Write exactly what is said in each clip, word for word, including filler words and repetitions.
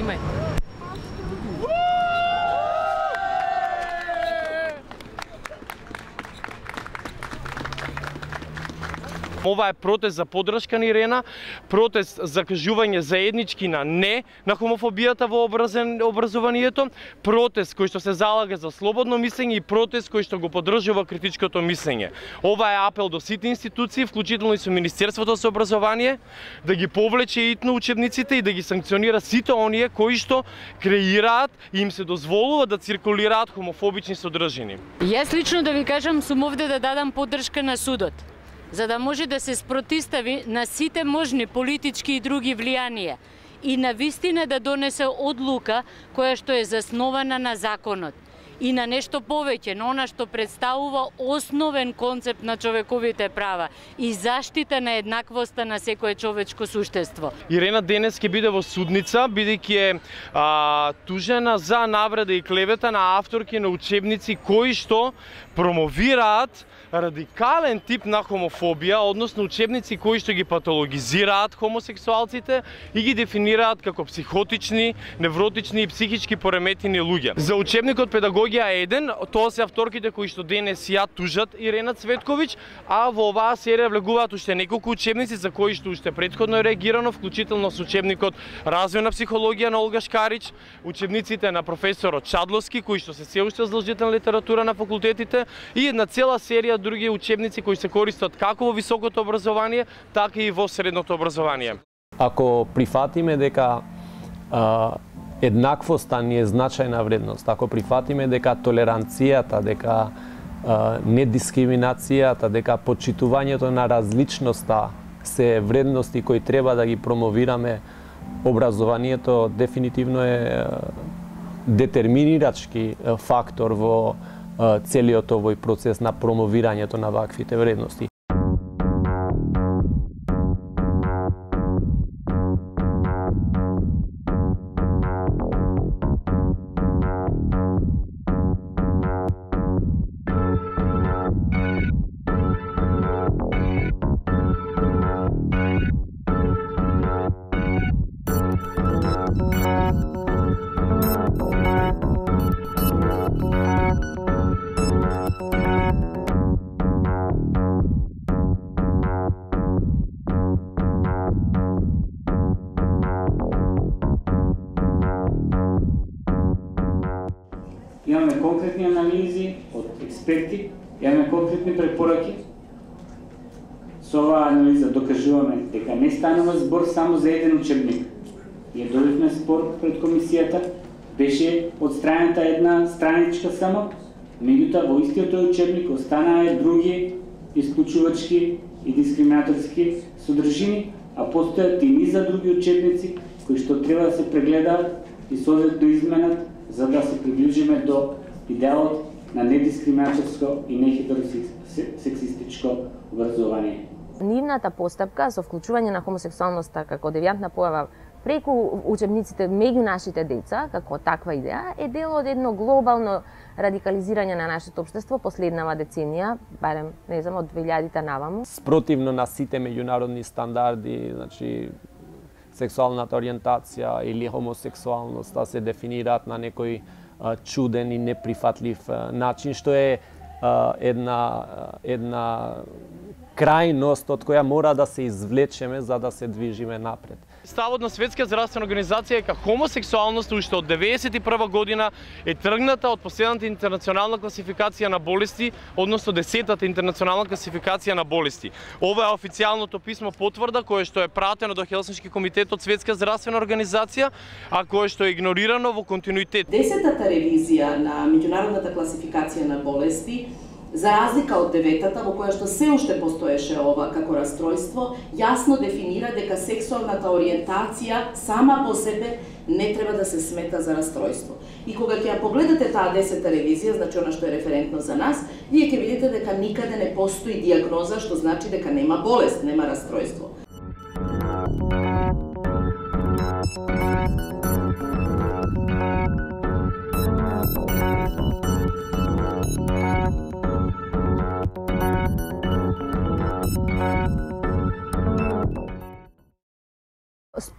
момент. Ова е протест за поддршка на Ирена, протест за кажување заеднички на не на хомофобијата во образованието, протест кој што се залага за слободно мислење и протест кој што го поддржува критичкото мислење. Ова е апел до сите институции, вклучително и со Министерството за образование, да ги повлече итно учебниците и да ги санкционира сите оние кои што креираат и им се дозволува да циркулираат хомофобични содржини. Јас лично да ви кажам, сум овде да дадам поддршка на судот, за да може да се спротистави на сите можни политички и други влијанија и на вистина да донесе одлука која што е заснована на законот и на нешто повеќе, на она што представува основен концепт на човековите права и заштита на еднаквоста на секое човечко суштество. Ирена денес ќе биде во судница, бидејќи е а, тужена за навреда и клевета на авторки на учебници кои што промовираат радикален тип на хомофобија, односно учебници кои што ги патологизираат хомосексуалците и ги дефинираат како психотични, невротични и психички пореметени луѓе. За учебникот Педагогија еден, тоа се авторките кои што денес ја тужат Ирена Цветковиќ, а во оваа серија влегуваат уште неколку учебници за кои што уште претходно е реагирано, вклучително со учебникот Развојна психологија на Олга Шкарич, учебниците на професорот Чадловски, кои што се се уште задолжителна литература на факултетите и една цела серија други учебници кои се користат како во високото образование, така и во средното образование. Ако прифатиме дека а, еднаквоста ни е значајна вредност, ако прифатиме дека толеранцијата, дека а, недискриминацијата, дека почитувањето на различноста се вредности кои треба да ги промовираме, образованието дефинитивно е детерминирачки фактор во целиот овој процес на промовирањето на ваквите вредности. Имаме конкретни анализи од експерти, имаме конкретни препораки. Со оваа анализа докажуваме дека не станува збор само за еден учебник. Ние добивме спор пред комисијата, беше отстранета една страничка само, меѓутоа во истиот тој учебник останаа други исклучувачки и дискриминаторски содржини, а постојат и низа други учебници кои што треба да се прегледаат и соодветно изменат за да се приближиме до идеалот на недискриминаторско и нехетеросексистичко образование. Нивната постапка со вклучување на хомосексуалноста како девијантна појава преку учебниците меѓу нашите деца, како таква идеја, е дел од едно глобално радикализирање на нашето општество последнава деценија, барем, не знам, од две илјадите наваму. Спротивно на сите меѓународни стандарди, значи сексуалната ориентација или хомосексуалноста се дефинираат на некој а, чуден и неприфатлив а, начин, што е а, една, една крајност од која мора да се извлечеме за да се движиме напред. Ставот на Светска здравствена организација е дека хомосексуалноста уште од деветдесет и прва година е тргната од последната интернационална класификација на болести, односно десетата интернационална класификација на болести. Ова е официјалното писмо потврда кое што е пратено до Хелсиншки комитет од Светска здравствена организација, а кое што е игнорирано во континуитет. Десетата ревизија на меѓународната класификација на болести, за разлика од деветата, во која што се уште постоеше ова како расстройство, јасно дефинира дека сексуалната ориентација сама по себе не треба да се смета за расстройство. И кога ќе ја погледате таа десета ревизија, значи она што е референтно за нас, вие ќе видите дека никаде не постои диагноза, што значи дека нема болест, нема расстройство.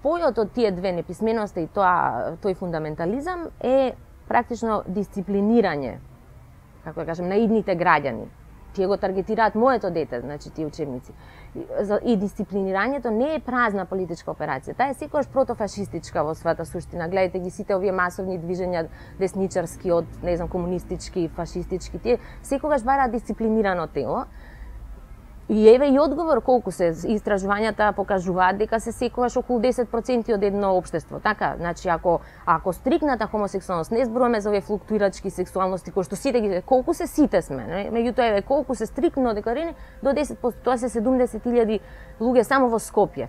спојот од тие две, неписменоста и тоа, тој фундаментализам, е практично дисциплинирање, како да кажем, на идните граѓани. Тие го таргетираат моето дете, значи тие учебници. И дисциплинирањето не е празна политичка операција, таа е секогаш протофашистичка во својата суштина. Гледате ги сите овие масовни движења, десничарски, од, не знам, комунистички, фашистички, тие секогаш бараат дисциплинирано тело. И еве и одговор колку се истражувањата покажуваат дека се секогаш околу десет проценти од едно општество. Така, значи ако ако стрикната хомосексуалност, не зборуваме за овие флуктуирачки сексуалности кои што сите ги колку се сите сме, не? Меѓутоа еве колку се стрикно декларирани до десет проценти, тоа се седумдесет илјади луѓе само во Скопје.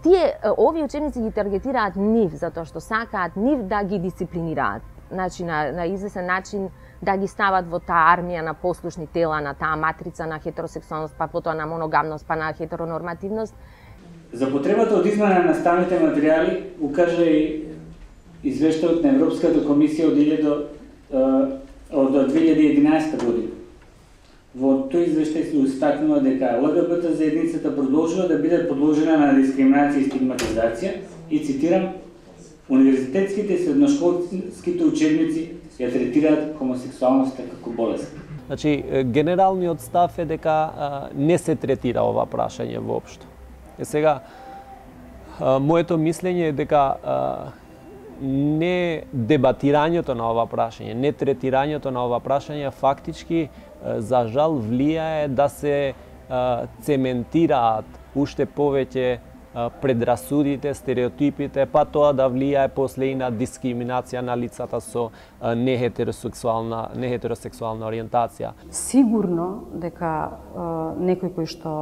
Тие овие учебници ги таргетираат нив затоа што сакаат нив да ги дисциплинираат. Значи на на извесен начин да ги стават во таа армија на послушни тела, на таа матрица на хетеросексуалност, па потоа на моногамност, па на хетеронормативност. За потребата од измена на наставните материјали укажа и извештајот на Европската комисија од од две илјади и единаесета година. Во тој извештај се истакнува дека ЛГБТ заедницата продолжува да биде подложена на дискриминација и стигматизација и цитирам: универзитетските и средношколските учебници ја третираат хомосексуалноста како болест. Значи, генералниот став е дека а, не се третира ова прашање воопшто. Е сега, а, моето мислење е дека а, не дебатирањето на ова прашање, не третирањето на ова прашање фактички, а, за жал, влијае да се а, цементираат уште повеќе предрасудите, стереотипите, па тоа да влијае после и на дискриминација на лицата со нехетеросексуална нехетеросексуална ориентација. Сигурно дека некој кој што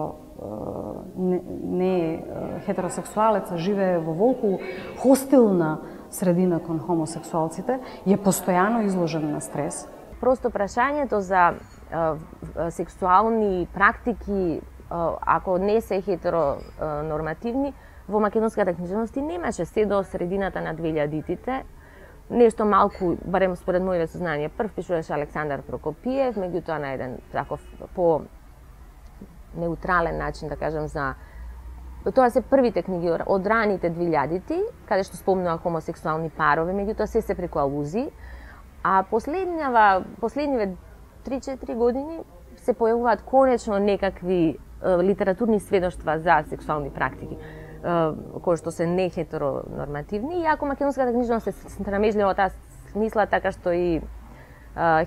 не, не е хетеросексуалец, живее во волку хостилна средина кон хомосексуалците, е постојано изложен на стрес. Просто прашањето за сексуални практики, ако не се хетеронормативни, во македонската книжевност немаше се до средината на две илјадитите. Нешто малку, барем според моите сознание, прв пишуваше Александар Прокопиев, меѓутоа на еден таков по неутрален начин, да кажем, за тоа се првите книги од раните две илјадити, каде што спомнува хомосексуални парови, меѓутоа се се преку алузии, а последнава последниве три-четири години се појавуваат конечно некакви литературни сведоштва за сексуални практики кои што се не хетеронормативни, иако македонската книжевност се страмежлива во таа смисла, така што и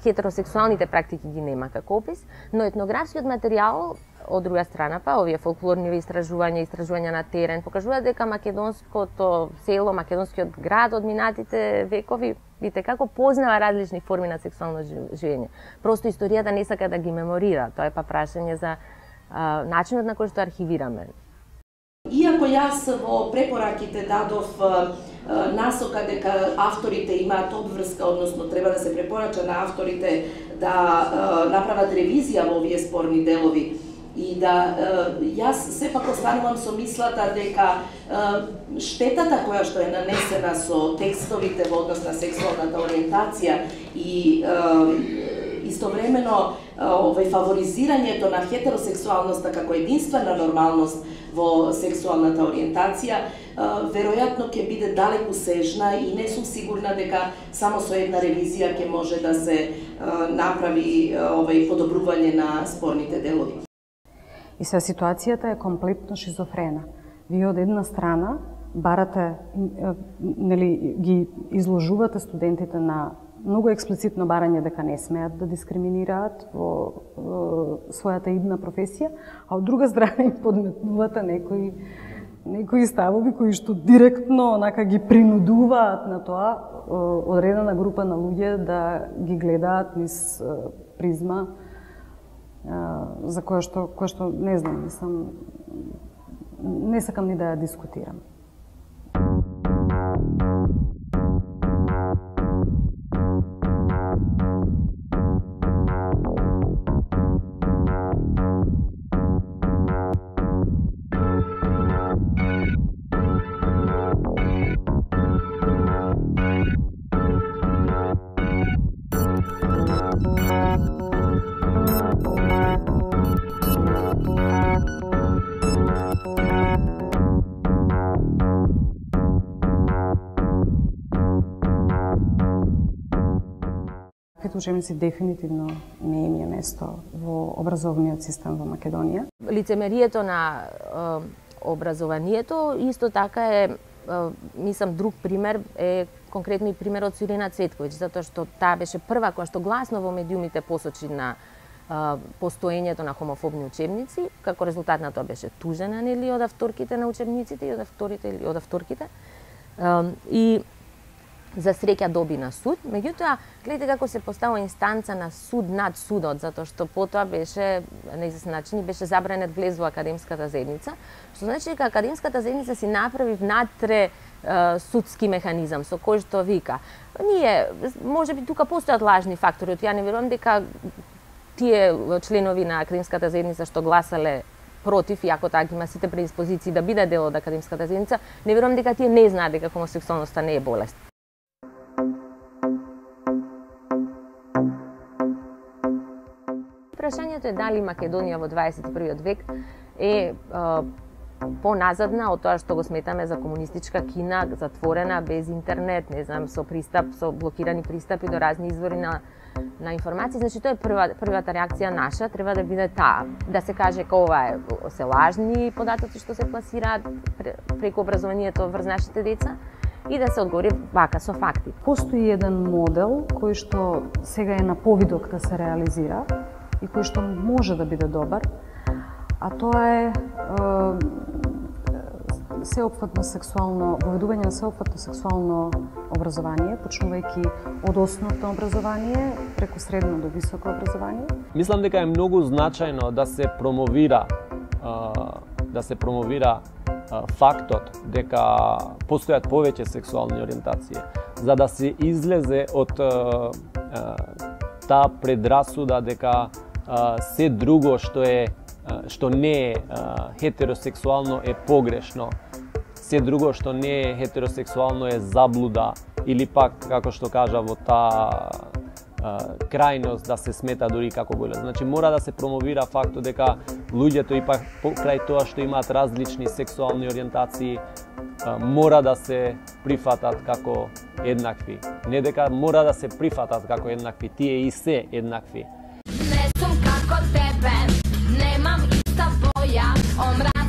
хетеросексуалните практики ги нема како опис, но етнографскиот материјал од друга страна, па овие фолклорни истражувања, истражувања на терен покажуваат дека македонското село, македонскиот град од минатите векови видите како познава различни форми на сексуално живење. Просто историјата не сака да ги меморира, тоа е па прашање за а, начинот на кој што архивираме. Иако јас во препораките дадов насока дека авторите имаат обврска, односно треба да се препорача на авторите да направат ревизија во овие спорни делови и да јас сепак останувам со мислата дека штетата која што е нанесена со текстовите во однос на сексуалната ориентација и истовремено овој фаворизирањето на хетеросексуалноста како единствена нормалност во сексуалната ориентација веројатно ќе биде далеку сежна и не сум сигурна дека само со една ревизија ќе може да се направи овој подобрување на спорните делови. И се ситуацијата е комплетно шизофрена. Вие од една страна барате, нели, ги изложувате студентите на многу експлицитно барање дека не смеат да дискриминираат во, во својата идна професија, а од друга страна им подметнувате некои некои ставови кои што директно онака ги принудуваат на тоа одредена група на луѓе да ги гледаат низ призма за која што која што не знам, не сам не сакам ни да ја дискутирам. Като учебници дефинитивно не им е место во образовниот систем во Македонија. Лицемерието на е, образованието исто така е, е, мислам, друг пример е конкретно и примерот со Ирина Цветковиќ, затоа што таа беше прва која што гласно во медиумите посочи на е, постоењето на хомофобни учебници, како резултат на тоа беше тужена, нели, од авторките на учебниците и од авторите или од авторките. Е, и за среќа доби на суд, меѓутоа, гледате како се поставува инстанца на суд над судот, затоа што потоа беше, на известен начин, беше забранет влез во академската заедница, што значи дека академската заедница си направи внатре е, судски механизам со кој што вика. Ние, може би тука постојат лажни фактори, ја не верувам дека тие членови на академската заедница што гласале против, иако таа ги има сите предиспозиции да биде дел од академската заедница, не верувам дека тие не знаат дека хомосексуалноста не е болест. Прашањето е дали Македонија во дваесет и првиот век е, е поназадна од тоа што го сметаме за комунистичка Кина, затворена, без интернет, не знам, со пристап, со блокирани пристапи до разни извори на, на информации. Значи, тоа е прва, првата реакција наша, треба да биде таа. Да се каже дека ова е, се лажни податоци што се пласираат преку образованието врз нашите деца, и да се одговори вака со факти. Постои еден модел кој што сега е на повидок да се реализира и кој што може да биде добар, а тоа е, е сеопфатно сексуално, воведување на сеопфатно сексуално образование, почнувајќи од основно образование преку средно до високо образование. Мислам дека е многу значајно да се промовира да се промовира фактот дека постојат повеќе сексуални ориентации, за да се излезе од таа предрасуда дека се друго што е што не е хетеросексуално е погрешно, се друго што не е хетеросексуално е заблуда, или пак, како што кажа, во таа крајност да се смета дури како болест. Значи мора да се промовира фактот дека луѓето ипак покрај тоа што имаат различни сексуални ориентации мора да се прифатат како еднакви. Не дека мора да се прифатат како еднакви, тие и се еднакви. Не сум како тебе, немам иста боја, омра